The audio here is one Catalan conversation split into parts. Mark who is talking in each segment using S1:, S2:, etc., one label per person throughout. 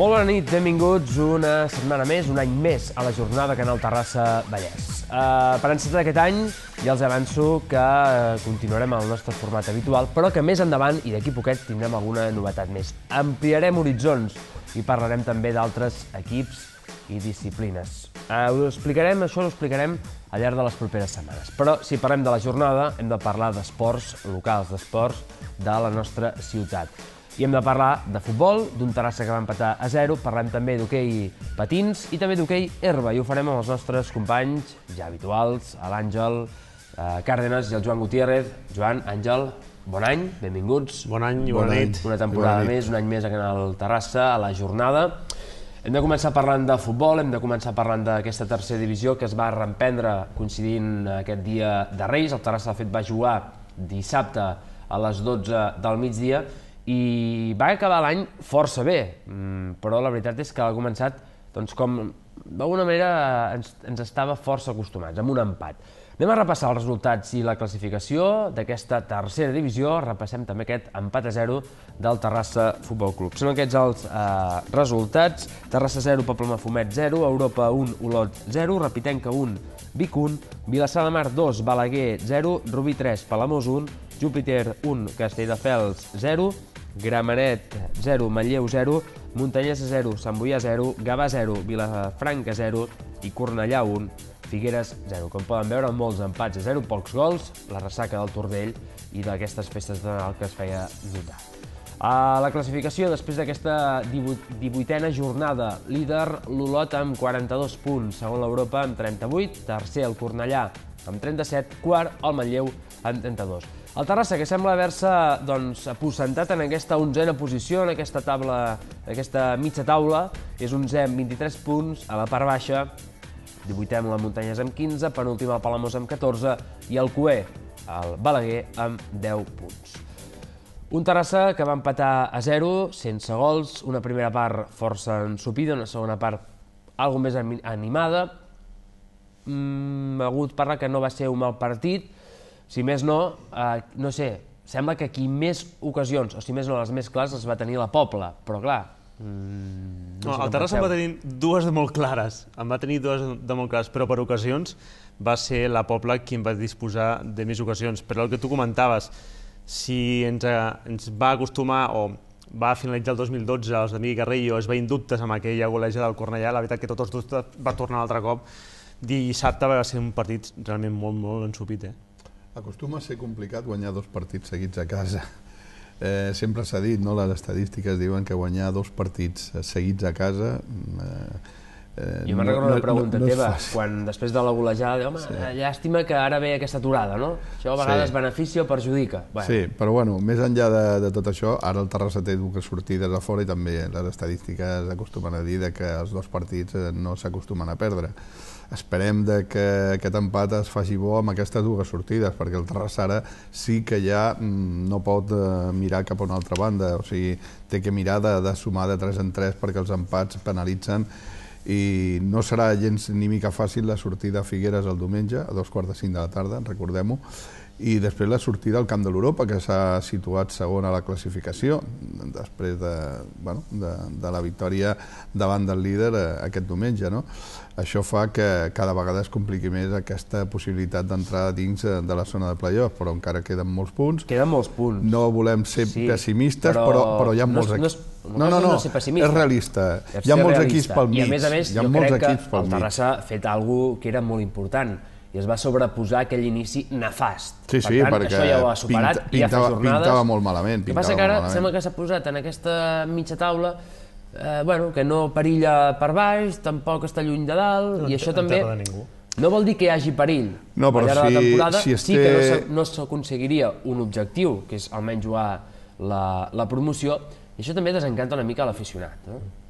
S1: Molt bona nit, benvinguts una setmana més, un any més a la jornada Canal Terrassa Vallès. Per encetar aquest any ja els avanço que continuarem el nostre format habitual, però que més endavant i d'aquí poquet tindrem alguna novetat més. Ampliarem horitzons i parlarem també d'altres equips i disciplines. Això ho explicarem al llarg de les properes setmanes. Però si parlem de la jornada hem de parlar d'esports locals, d'esports de la nostra ciutat. I hem de parlar de futbol, d'un Terrassa que va empatar a 0, parlem també d'hoquei patins i també d'hoquei herba, i ho farem amb els nostres companys ja habituals, l'Àngel Cárdenas i el Joan Gutiérrez. Joan, Àngel, bon any, benvinguts.
S2: Bon any i bona nit.
S1: Una temporada més, un any més a Canal Terrassa, a la jornada. Hem de començar parlant de futbol, hem de començar parlant d'aquesta tercera divisió que es va reemprendre coincidint aquest dia de Reis. El Terrassa, de fet, va jugar dissabte a les 12 del migdia i va acabar l'any força bé, però la veritat és que ha començat, doncs, com d'alguna manera ens estava força acostumats, amb un empat. Anem a repassar els resultats i la classificació d'aquesta tercera divisió. Repassem també aquest empat a 0 del Terrassa Futbol Club. Són aquests els resultats: Terrassa 0, Poblemafumet 0, Europa 1, Olot 0, Repitenca 1, Vic 1, Vilassar de Mar 2, Balaguer 0, Rubí 3, Palamós 1, Júpiter 1, Castelldefels 0, Gramenet 0, Manlleu 0, Montanyesa 0, Sant Boià 0, Gavà 0, Vilafranca 0 i Cornellà 1, Figueres 0. Com poden veure, molts empats a 0, pocs gols, la ressaca del Tordell i d'aquestes festes de Nadal que es feia notar. A la classificació, després d'aquesta 18a jornada, líder l'Olot amb 42 punts, segon l'Europa amb 38, tercer el Cornellà amb 37, quart el Manlleu amb 32. El Terrassa, que sembla haver-se aposentat en aquesta 11a posició, en aquesta taula, aquesta mitja taula, és 11è amb 23 punts, a la part baixa, 18è amb la Muntanyesa amb 15, penúltim el Palamós amb 14 i el Coer, el Balaguer, amb 10 punts. Un Terrassa que va empatar a 0, sense gols, una primera part força ensopida, una segona part algo més animada. Ha hagut parlar que no va ser un mal partit, si més no, no sé, sembla que aquí més ocasions, o si més no, les més clares, les va tenir la Pobla, però clar...
S2: El Terrassa en va tenir dues de molt clares, però per ocasions va ser la Pobla qui en va disposar de més ocasions. Però el que tu comentaves, si ens va acostumar o va finalitzar el 2012, els d'Emili Carrillo es veien dubtes amb aquella goleja del Cornellà, la veritat que tots els dubtes va tornar un altre cop. Dissabte va ser un partit realment molt, molt ensopit.
S3: Acostuma a ser complicat guanyar dos partits seguits a casa. Sempre s'ha dit, les estadístiques diuen que guanyar dos partits seguits a casa...
S1: Jo me'n recordo una pregunta teva, quan després de la golejada, llàstima que ara ve aquesta aturada, no? Això a vegades beneficia o perjudica.
S3: Sí, però bueno, més enllà de tot això, ara el Terrassa té dues sortides a fora i també les estadístiques acostumen a dir que els dos partits no s'acostumen a perdre. Esperem que aquest empat es faci bo amb aquestes dues sortides, perquè el Terrassa ara sí que ja no pot mirar cap a una altra banda, o sigui, té que mirar de sumar de 3 en 3 perquè els empats penalitzen i no serà gens ni mica fàcil la sortida a Figueres el diumenge, a 2:45 de la tarda, recordem-ho, i després la sortida al Camp de l'Europa, que s'ha situat segon a la classificació, després de la victòria davant del líder aquest diumenge. Això fa que cada vegada es compliqui més aquesta possibilitat d'entrar dins de la zona de play-off, però encara queden molts punts.
S1: Queden molts punts.
S3: No volem ser pessimistes, però hi ha molts equips. No, és realista. Hi ha molts equips pel mig.
S1: I a més, jo crec que el Terrassa ha fet alguna cosa que era molt important, i es va sobreposar aquell inici nefast.
S3: Sí, perquè
S1: això ja ho ha superat i ja fa jornades.
S3: Pintava molt malament.
S1: El que passa que ara sembla que s'ha posat en aquesta mitja taula que no perilla per baix, tampoc està lluny de dalt, i això també no vol dir que hi hagi perill. Al llarg de la temporada sí que no s'aconseguiria un objectiu, que és almenys jugar la promoció, i això també desencanta una mica l'aficionat.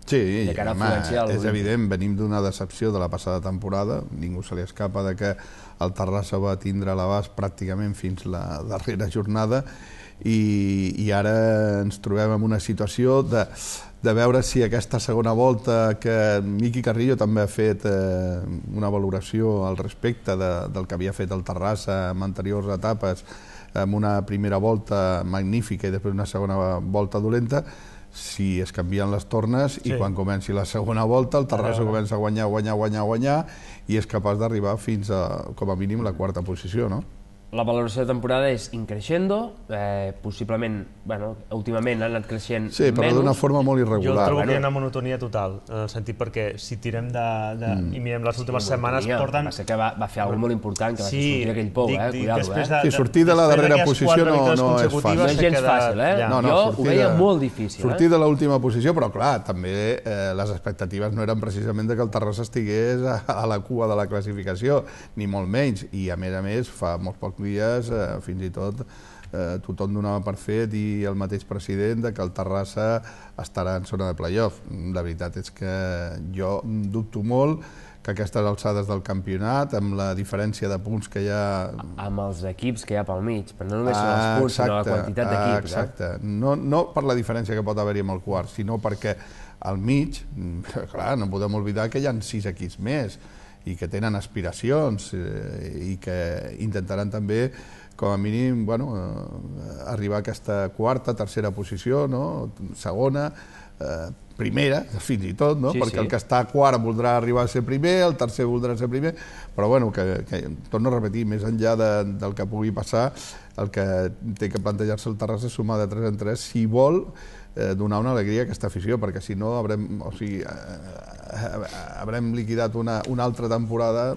S3: Sí, és evident, venim d'una decepció de la passada temporada, ningú se li escapa que el Terrassa va tindre a l'abast pràcticament fins la darrera jornada i ara ens trobem en una situació de veure si aquesta segona volta, que Miqui Carrillo també ha fet una valoració al respecte del que havia fet el Terrassa en anteriors etapes, amb una primera volta magnífica i després una segona volta dolenta, si es canvien les tornes i quan comenci la segona volta el Terrassa comença a guanyar i és capaç d'arribar fins a, com a mínim, la quarta posició, no?
S1: La valoració de temporada és increixendo, possiblement, bueno, últimament ha anat creixent menys.
S3: Sí, però d'una forma molt irregular.
S2: Jo trobo que hi ha una monotonia total, en el sentit perquè si tirem i mirem les últimes setmanes porten...
S1: Va ser que va fer alguna cosa molt important, que va sortir aquell pou, cuidado.
S3: Sí, sortir de la darrera posició no és fàcil.
S1: No és gens fàcil, jo ho veia molt difícil.
S3: Sortir de l'última posició, però clar, també les expectatives no eren precisament que el Terrassa estigués a la cua de la classificació, ni molt menys, i a més, fa molts pocs dies, fins i tot tothom donava per fet i el mateix president que el Terrassa estarà en zona de playoff. La veritat és que jo dubto molt que aquestes alçades del campionat, amb la diferència de punts que hi ha...
S1: Amb els equips que hi ha pel mig, però no només són els punts, sinó la quantitat d'equips.
S3: Exacte, no per la diferència que pot haver-hi amb el quart, sinó perquè al mig, clar, no podem oblidar que hi ha 6 equips més i que tenen aspiracions i que intentaran també, com a mínim, arribar a aquesta quarta, tercera posició, segona, primera, fins i tot, perquè el que està a quart voldrà arribar a ser primer, el tercer voldrà ser primer, però torno a repetir, més enllà del que pugui passar, el que té que plantejar-se el Terrassa és sumar de 3 en 3 si vol donar una alegria a aquesta afició, perquè si no haurem liquidat una altra temporada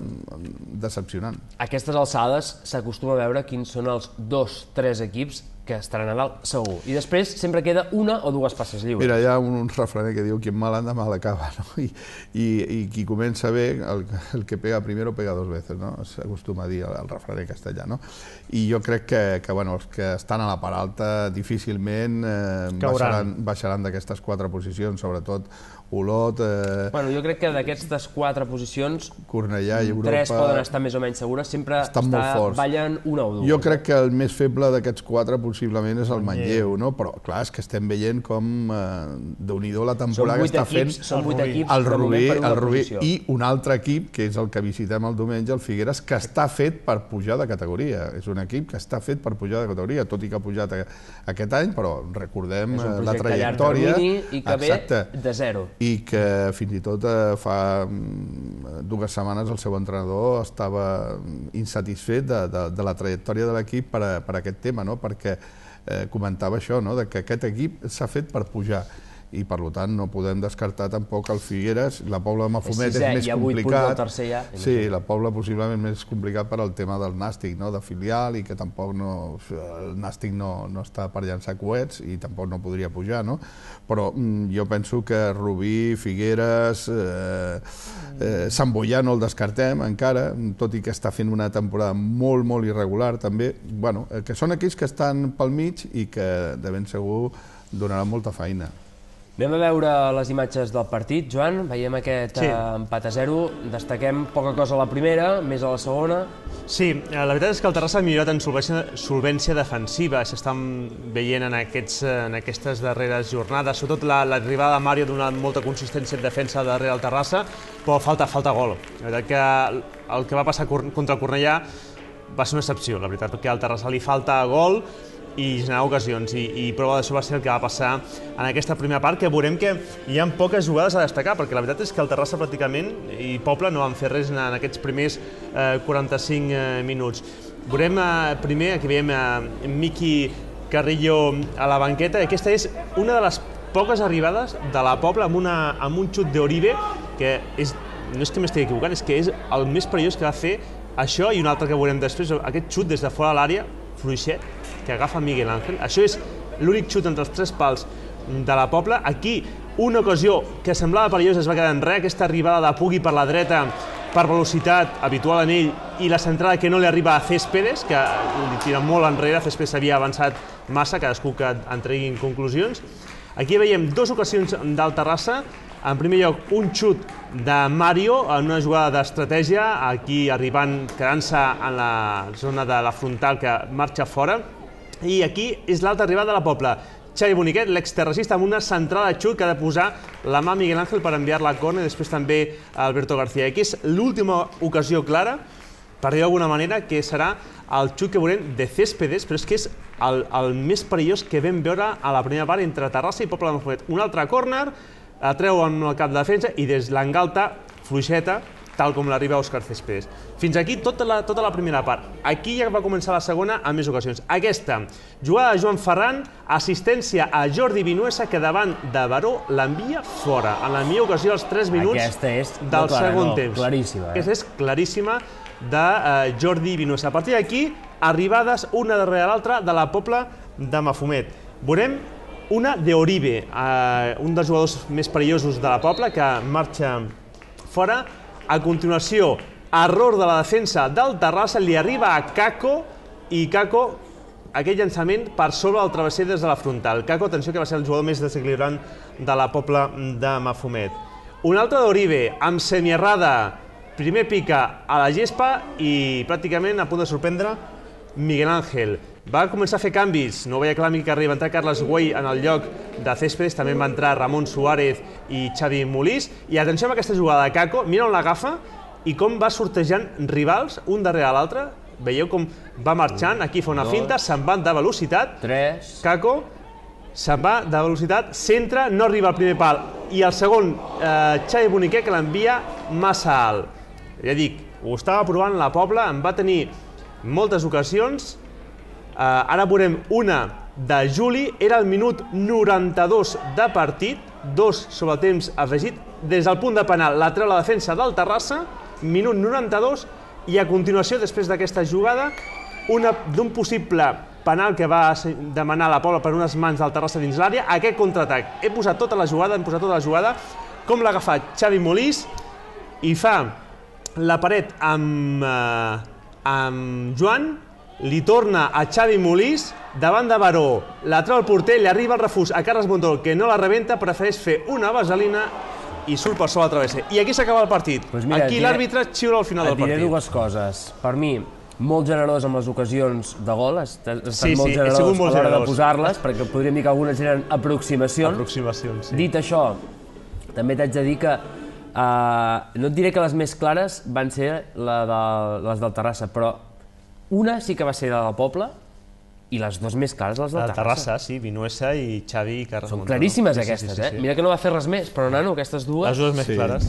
S3: decepcionant.
S1: A aquestes alçades s'acostuma a veure quins són els 2-3 equips que estaran a dalt segur, i després sempre queda una o dues passes lliures.
S3: Mira, hi ha un refraner que diu quien mal anda mal acaba, i qui comença bé, el que pega primero pega 2 veces, s'acostuma a dir el refraner castellà, i jo crec que els que estan a la part alta difícilment baixaran d'aquestes 4 posicions, sobretot Olot...
S1: Jo crec que d'aquestes 4 posicions,
S3: Cornellà i Europa...
S1: 3 poden estar més o menys segures, sempre ballen una o dues.
S3: Jo crec que el més feble d'aquests 4 possiblement és el Manlleu, però clar, és que estem veient com Déu-n'hi-do la temporada que està fent el Rubí i un altre equip, que és el que visitem el diumenge, el Figueres, que està fet per pujar de categoria. És un equip que està fet per pujar de categoria, tot i que ha pujat aquest any, però recordem la trajectòria...
S1: I que ve de zero.
S3: I que fins i tot fa 2 setmanes el seu entrenador estava insatisfet de la trajectòria de l'equip per aquest tema, perquè comentava això, que aquest equip s'ha fet per pujar i per tant no podem descartar tampoc el Figueres. La Pobla de Mafumet és més complicat. Sí, la Pobla possiblement més complicat per al tema del Nàstic, de filial, i que tampoc el Nàstic no està per llançar coets i tampoc no podria pujar, però jo penso que Rubí, Figueres, Sant Boià no el descartem encara, tot i que està fent una temporada molt, molt irregular també, que són equips que estan pel mig i que de ben segur donaran molta feina.
S1: Anem a veure les imatges del partit, Joan. Veiem aquest empat a 0. Destaquem poca cosa a la primera, més a la segona.
S2: Sí, la veritat és que el Terrassa ha millorat en solvència defensiva. S'estan veient en aquestes darreres jornades. Sobretot l'arribada de Mario ha donat molta consistència en defensa darrere el Terrassa, però falta gol. La veritat que el que va passar contra el Cornellà va ser una excepció, la veritat, perquè al Terrassa li falta gol i generar ocasions, i prova d'això va ser el que va passar en aquesta primera part, que veurem que hi ha poques jugades a destacar, perquè la veritat és que el Terrassa pràcticament i Pobla no van fer res en aquests primers 45 minuts. Veurem primer, aquí veiem Miqui Carrillo a la banqueta, i aquesta és una de les poques arribades de la Pobla amb un xut d'Oribe, que no és que m'estigui equivocant, és que és el més perillós que va fer això, i un altre que veurem després, aquest xut des de fora de l'àrea, fluixet, que agafa Miguel Ángel. Això és l'únic xut entre els 3 pals de la Pobla. Aquí, una ocasió que semblava perillosa es va quedar en res, aquesta arribada de Pugui per la dreta per velocitat habitual en ell, i la centrada que no li arriba a Céspedes, que li tira molt enrere. Céspedes havia avançat massa, cadascú que en treguin conclusions. Aquí veiem 2 ocasions del Terrassa. En primer lloc, un xut de Mario en una jugada d'estratègia, aquí quedant-se en la zona de la frontal que marxa fora. I aquí és l'altra arribada de la Pobla. Xavi Boniquet, l'exterracista, amb una centrada de xut que ha de posar la mà a Miguel Ángel per enviar-la a córner, i després també a Alberto García. Aquí és l'última ocasió clara per dir d'alguna manera, que serà el xut que veurem de Céspedes, però és que és el més perillós que vam veure a la primera part entre Terrassa i Pobla de Mafumet. Un altre córner, treu amb el cap de defensa i des l'engalta, fluixeta, tal com l'arriba Òscar Céspedes. Fins aquí tota la primera part. Aquí ja va començar la segona en més ocasions. Aquesta, jugada de Joan Ferran, assistència a Jordi Vinuesa, que davant de Baró l'envia fora. En la millor ocasió, als 3 minuts del segon temps.
S1: Claríssima.
S2: Aquesta és claríssima de Jordi Vinuesa. A partir d'aquí, arribades una darrere l'altra de la Pobla de Mafumet. Veurem una d'Oribe, un dels jugadors més perillosos de la Pobla, que marxa fora. A continuació, error de la defensa del Terrassa, li arriba a Kako, i Kako, aquell llançament per sobre del travesser des de la frontal. Kako, atenció, que va ser el jugador més desequilibrant de la Pobla de Mafumet. Un altre d'Oribe, amb semierrada, primer pica a la gespa i pràcticament a punt de sorprendre Miguel Ángel. Va començar a fer canvis, no veia clar que arriba a entrar Carles Güell en el lloc de Céspedes, també va entrar Ramon Suárez i Xavi Molís, i atenció amb aquesta jugada de Kako, mira on l'agafa i com va sortejant rivals un darrere l'altre, veieu com va marxant, aquí fa una finta, se'n van de velocitat, Kako se'n va de velocitat, centra, no arriba al primer pal, i el segon, Xavi Boniquer, que l'envia massa alt. Ja dic, ho estava provant la Pobla, en va tenir moltes ocasions. Ara veurem una de Juli, era el minut 92 de partit, 2 sobre el temps afegit, des del punt de penal la treu la defensa del Terrassa, minut 92, i a continuació, després d'aquesta jugada, d'un possible penal que va demanar la Pobla per unes mans del Terrassa dins l'àrea, aquest contraatac. Hem posat tota la jugada, com l'ha agafat Xavi Molís, i fa la paret amb Joan, li torna a Xavi Molís, davant de Baró, la treu el porter, li arriba el refús a Carles Montol, que no la rebenta, prefereix fer una vaselina i surt per sobre el travesser. I aquí s'acaba el partit. Aquí l'àrbitre xiula al final del partit.
S1: Et diré dues coses. Per mi, molt generós amb les ocasions de gol, ha estat molt generós a l'hora de posar-les, perquè podríem dir que algunes eren aproximacions. Dit això, també t'haig de dir que no et diré que les més clares van ser les del Terrassa, però una sí que va ser de la Pobla i les dues més clares, les del
S2: Terrassa. Sí, Vinuesa i Xavi i Carles Montol.
S1: Són claríssimes aquestes, eh? Mira que no va fer res més, però nano, aquestes dues...
S2: Les dues més clares.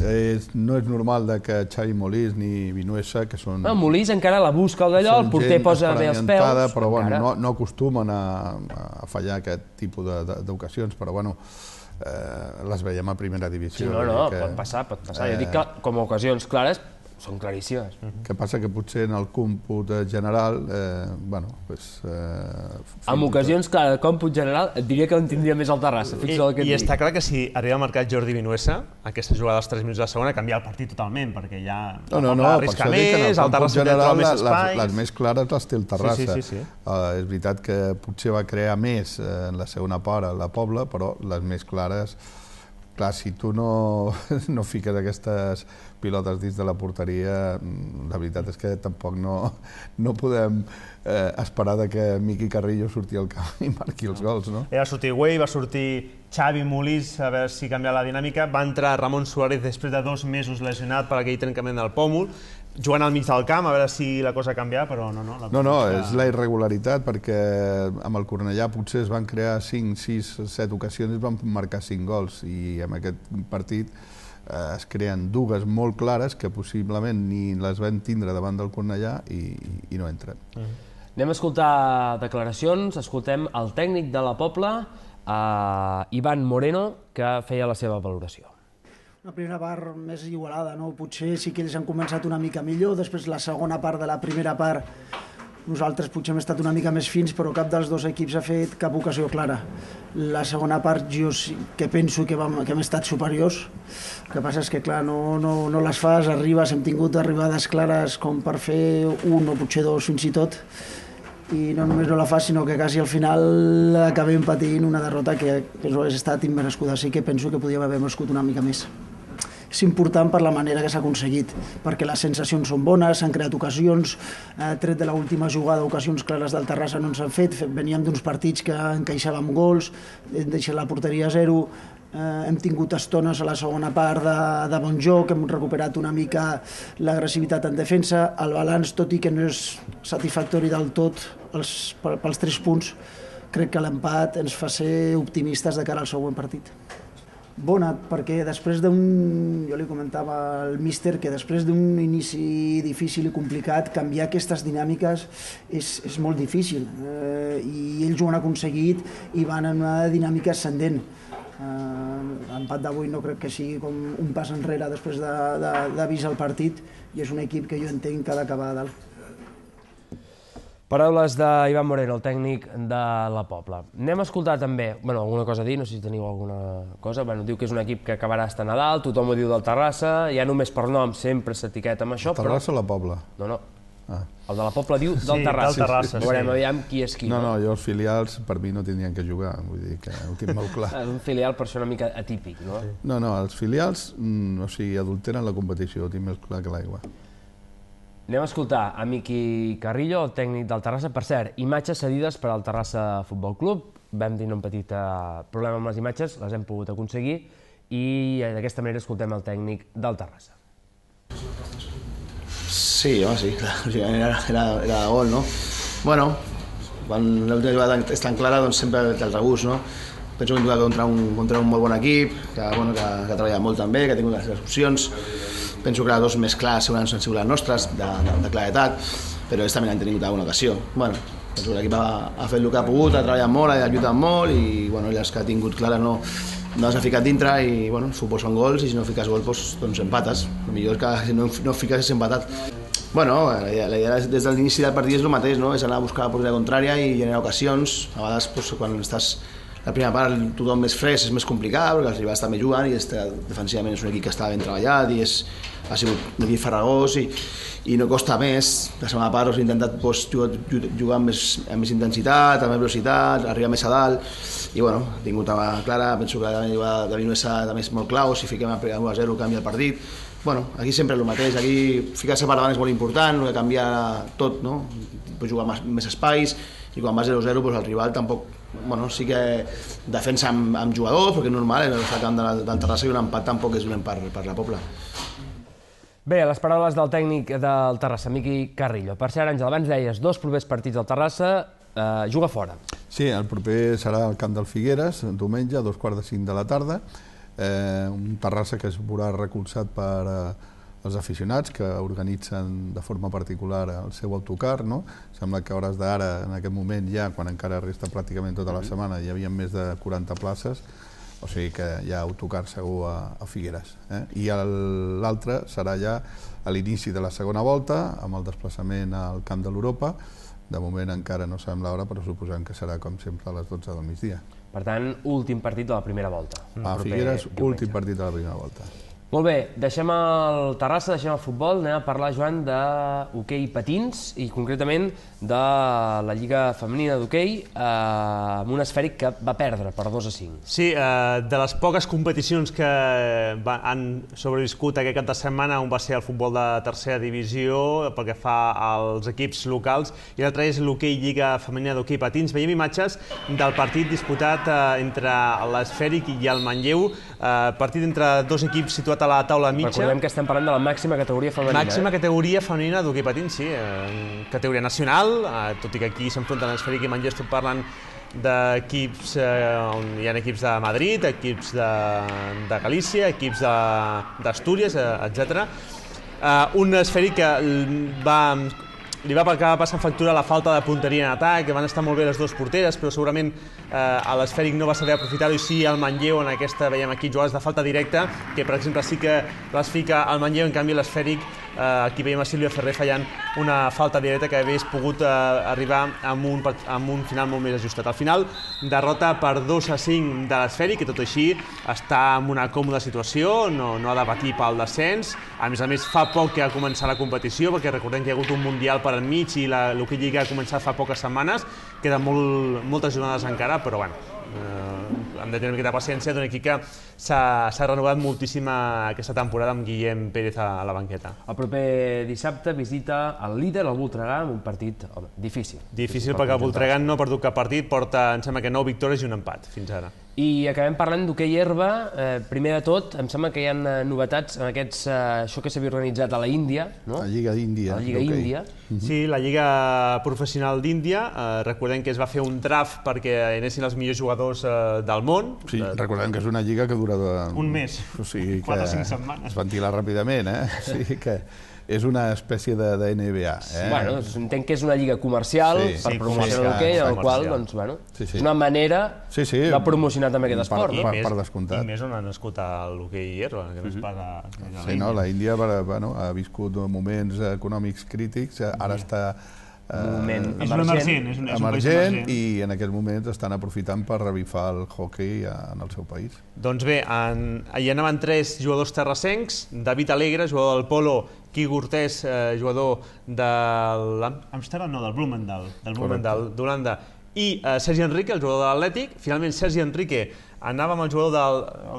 S3: No és normal que Xavi Molís ni Vinuesa, que són...
S1: Molís encara la busca al d'allò, el porter posa bé els peus...
S3: Però bueno, no acostumen a fallar aquest tipus d'ocasions, però bueno, les veiem a primera divisió.
S1: No, pot passar. Jo dic que com a ocasions clares són claríssimes.
S3: Que passa que potser en el còmput general,
S1: amb ocasions clares de còmput general, et diria que en tindria més el Terrassa.
S2: I està clar que si arriba a marcar Jordi Vinuesa, aquesta jugada dels 3 minuts de la segona canvia el partit totalment, perquè ja arrisca més, el Terrassa troba més espais...
S3: Les més clares les té el Terrassa. És veritat que potser va crear més en la segona part a la Pobla, però les més clares... Clar, si tu no fiques aquestes pilotes dins de la porteria, la veritat és que tampoc no podem esperar que Miqui Carrillo surti al camp i marqui els gols, no?
S2: Va sortir Güell, va sortir Xavi Molís, a veure si canvia la dinàmica, va entrar Ramon Suárez després de 2 mesos lesionat per aquell trencament del pòmul, jugant al mig del camp, a veure si la cosa ha canviat, però no.
S3: No, és la irregularitat, perquè amb el Cornellà potser es van crear 5, 6, 7 ocasions i es van marcar 5 gols, i en aquest partit es creen dues molt clares que possiblement ni les vam tindre davant del Cornellà i no entren.
S1: Anem a escoltar declaracions, escoltem el tècnic de la Pobla, Ivan Moreno, que feia la seva valoració.
S4: La primera part més igualada, no? Potser sí que ells han començat una mica millor, després la segona part de la primera part nosaltres potser hem estat una mica més fins, però cap dels dos equips ha fet cap ocasió clara. La segona part jo sí que penso que hem estat superiors, el que passa és que clar, no les fas, arribes, hem tingut arribades clares com per fer 1 o potser 2 fins i tot, i no només no la fas, sinó que quasi al final acabem patint una derrota que penso que ha estat immerescuda, sí que penso que podíem haver merescut una mica més. És important per la manera que s'ha aconseguit, perquè les sensacions són bones, s'han creat ocasions, tret de l'última jugada, ocasions clares del Terrassa no ens han fet, veníem d'uns partits que encaixàvem gols, hem deixat la porteria a 0, hem tingut estones a la segona part de bon joc, hem recuperat una mica l'agressivitat en defensa, el balanç, tot i que no és satisfactori del tot pels 3 punts, crec que l'empat ens fa ser optimistes de cara al següent partit. Bona, perquè després jo li comentava al míster que després d'un inici difícil i complicat, canviar aquestes dinàmiques és molt difícil, i ells ho han aconseguit i van en una dinàmica ascendent. L'empat d'avui no crec que sigui com un pas enrere després d'avisar el partit, i és un equip que jo entenc que ha d'acabar a dalt.
S1: Paraules d'Ivan Moreno, el tècnic de la Pobla. Anem a escoltar també, alguna cosa a dir, no sé si teniu alguna cosa. Diu que és un equip que acabarà estant a dalt, tothom ho diu del Terrassa, ja només per nom sempre s'etiqueta amb això, però...
S3: Terrassa o la Pobla?
S1: No. El de la Pobla diu del Terrassa. Veurem aviam qui és qui.
S3: No, jo els filials per mi no tindrien que jugar, vull dir que ho tinc molt clar.
S1: Un filial per ser una mica atípic, no?
S3: No, els filials, adulteren la competició, ho tinc més clar que l'aigua.
S1: Anem a escoltar a Miqui Carrillo, el tècnic del Terrassa. Per cert, imatges cedides per al Terrassa Futbol Club. Vam tenir un petit problema amb les imatges, les hem pogut aconseguir, i d'aquesta manera escoltem el tècnic del Terrassa.
S5: Sí, era de gol, no? Bueno, quan l'última jugada és tan clara, doncs sempre té el regust, no? Penso que hem jugat contra un molt bon equip, que ha treballat molt també, que ha tingut les opcions. Penso que les dues més clares segurament han sigut les nostres, de claretat, però ells també han tingut alguna ocasió. Bueno, penso que l'equip ha fet el que ha pogut, ha treballat molt, ha lluitat molt, i les que ha tingut clares no les ha ficat dintre, i el futbol són gols, i si no fiques gol, doncs empates. El millor és que si no fiques és empatat. La idea des de l'inici del partit és el mateix, no? És anar a buscar la porteria contrària i generar ocasions. A vegades, quan estàs la primera part, tothom més fresc, és més complicat, perquè els rivals també juguen, i defensivament és un equip que està ben treballat, i ha sigut un equip farragós, i no costa més. La segona part hem intentat jugar amb més intensitat, amb més velocitat, arribar més a dalt, i ha tingut una clara. Penso que la Vinuesa també és molt clau, si fiquem a 1-0 canvia el partit. Aquí sempre és el mateix, aquí ficar-se per davant és molt important, no canvia tot, no? Pots jugar més espais, i quan vas 0-0 el rival tampoc, sí que defensa amb jugadors, perquè és normal, el camp del Terrassa, i un empat tampoc és dolent per la Pobla.
S1: Bé, les paraules del tècnic del Terrassa, Miqui Carrillo. Per cert, Àngel, abans deies 2 propers partits del Terrassa, juga fora.
S3: Sí, el proper serà al camp del Figueres, diumenge, a 2:45 de la tarda. Un Terrassa que es veurà recolzat per els aficionats que organitzen de forma particular el seu autocar, no? Sembla que a hores d'ara, en aquest moment ja, quan encara resta pràcticament tota la setmana, hi havia més de 40 places, o sigui que hi ha autocar segur a Figueres. I l'altre serà ja a l'inici de la segona volta, amb el desplaçament al camp de l'Europa. De moment encara no sabem l'hora, però suposem que serà, com sempre, a les 12 del migdia.
S1: Per tant, últim partit de la primera volta.
S3: A Figueres, últim partit de la primera volta.
S1: Molt bé, deixem el Terrassa, deixem el futbol, anem a parlar, Joan, d'hoquei patins, i concretament de la Lliga Femenina d'Hoquei, amb un esfèric que va perdre per 2-5.
S2: Sí, de les poques competicions que han sobreviscut aquest cap de setmana, un va ser el futbol de tercera divisió, pel que fa als equips locals, i l'altre és l'hoquei Lliga Femenina d'Hoquei Patins. Veiem imatges del partit disputat entre l'esfèric i el Manlleu, partit entre dos equips situat a la taula mitja.
S1: Recordem que estem parlant de la màxima categoria femenina.
S2: Màxima categoria femenina d'hoquei patins, sí, categoria nacional, tot i que aquí s'enfronten l'esfèric i Manlleu, estem parlant d'equips on hi ha equips de Madrid, equips de Galícia, equips d'Astúries, etc. Un esfèric que li va acabar passant factura la falta de punteria en atac, que van estar molt bé les dues porteres, però segurament l'esfèric no va saber aprofitar-ho, i sí el Manlleu en aquesta, veiem aquí, jugades de falta directa, que per exemple sí que les fica el Manlleu, en canvi l'esfèric, aquí veiem a Sílvia Ferrer fallant una falta directa que hagués pogut arribar amb un final molt més ajustat. Al final, derrota per 2-5 de l'esfèric, que tot així està en una còmoda situació, no ha de patir pel descens. A més, fa poc que ha començat la competició, perquè recordem que hi ha hagut un Mundial per enmig i l'hoquei Lliga ha començat fa poques setmanes, queden moltes jornades encara, però bueno, hem de tenir una miqueta de paciència d'un equip que s'ha renovat moltíssim aquesta temporada amb Guillem Pérez a la banqueta.
S1: El proper dissabte visita el líder, el Voltregà, amb un partit difícil.
S2: Difícil perquè el Voltregà no ha perdut cap partit, porta, em sembla que 9 victòries i un empat fins ara.
S1: I acabem parlant d'hoquei herba. Primer de tot, em sembla que hi ha novetats en això que s'havia organitzat a la Índia, no?
S3: La Lliga Índia.
S1: La Lliga Índia.
S2: Sí, la Lliga Professional d'Índia. Recordem que es va fer un draft perquè anessin els millors jugadors del món.
S3: Sí, recordem que és una lliga que dura...
S2: Un mes,
S3: o sigui
S2: 4 o 5 setmanes.
S3: Es ventila ràpidament, O sigui que és una espècie de NBA.
S1: Bueno, entenc que és una lliga comercial per promocionar l'hoquei, en el qual, doncs, bueno, és una manera de promocionar també aquest esport.
S3: Per descomptat.
S2: I més on ha nascut l'hoquei herba, que no es paga...
S3: Sí, no, la Índia ha viscut moments econòmics crítics, ara està emergent i en aquests moments estan aprofitant per revifar el hoquei en el seu país.
S2: Doncs bé, hi anaven 3 jugadors terrassencs: David Alegre, jugador del Polo; Quico Cortés, jugador de l'Amsterdam, no, del Bloemendaal d'Holanda; i Sergi Enrique, el jugador de l'Atlètic. Finalment, Sergi Enrique anava amb el jugador de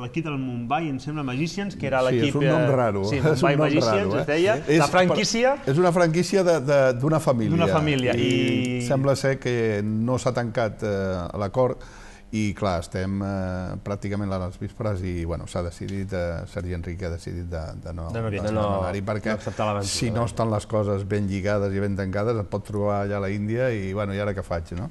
S2: l'equip del Mumbai, em sembla, Magicians, que era l'equip...
S3: Sí, és un nom raro.
S2: Sí, Mumbai Magicians, es deia. La franquícia...
S3: És una franquícia d'una família.
S2: D'una família.
S3: I sembla ser que no s'ha tancat l'acord i, clar, estem pràcticament a les vísperes i, bueno, s'ha decidit, Sergi Enrique ha decidit de no anar-hi, perquè si no estan les coses ben lligades i ben tancades et pot trobar allà a la Índia i, bueno, i ara què faig, no?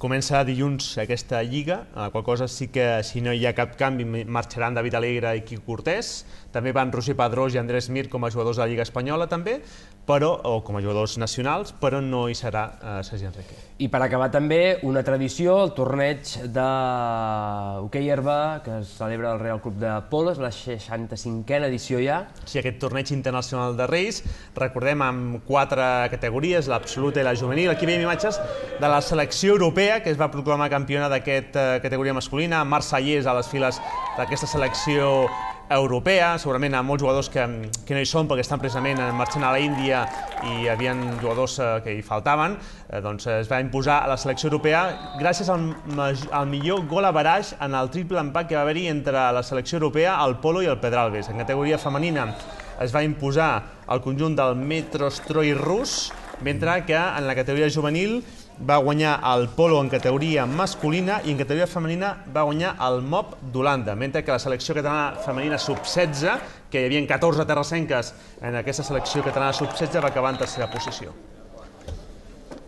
S2: Comença dilluns aquesta lliga, a qual cosa sí que, si no hi ha cap canvi, marxaran David Alegre i Quico Cortés. També van Roger Pedrós i Andrés Mir com a jugadors de la Lliga Espanyola, també, o com a jugadors nacionals, però no hi serà Sergi Enrique.
S1: I per acabar també una tradició, el torneig d'hoquei herba que es celebra al Real Club de Polo, és la 65a edició ja.
S2: Sí, aquest torneig internacional de Reis, recordem, amb 4 categories, l'absoluta i la juvenil. Aquí veiem imatges de la selecció europea, que es va proclamar campiona d'aquesta categoria masculina, Marc Sallés a les files d'aquesta selecció europea. Segurament hi ha molts jugadors que no hi són perquè estan precisament marxant a la Índia i hi havia jugadors que hi faltaven. Doncs es va imposar a la selecció europea gràcies al millor gol average en el triple empat que va haver-hi entre la selecció europea, el Polo i el Pedralbes. En categoria femenina es va imposar el conjunt del Metrostroi rus, mentre que en la categoria juvenil va guanyar el Polo en categoria masculina i en categoria femenina va guanyar el MOP d'Holanda, mentre que la selecció catalana femenina sub-16, que hi havia 14 terrassenques en aquesta selecció catalana sub-16, va acabar en tercera posició.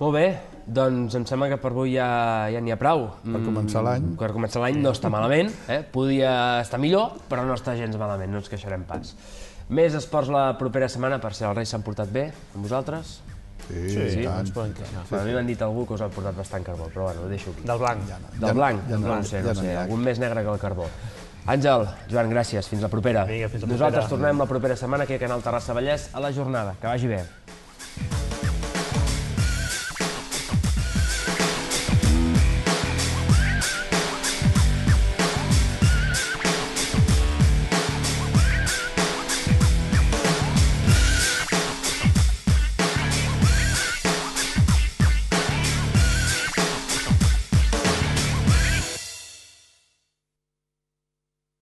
S1: Molt bé, doncs em sembla que per avui ja n'hi ha prou.
S3: Per començar l'any.
S1: Per començar l'any no està malament, podia estar millor, però no està gens malament, no ens queixarem pas. Més esports la propera setmana, per si els Reis s'han portat bé amb vosaltres.
S3: Sí, tant.
S1: A mi m'han dit algú que us ha portat bastant carbó, però bueno, ho deixo aquí.
S2: Del blanc.
S1: Del blanc? No ho sé, algun més negre que el carbó. Àngel, Joan, gràcies, fins la propera.
S2: Vinga, fins la propera.
S1: Nosaltres tornem la propera setmana aquí a Canal Terrassa Vallès a La Jornada. Que vagi bé.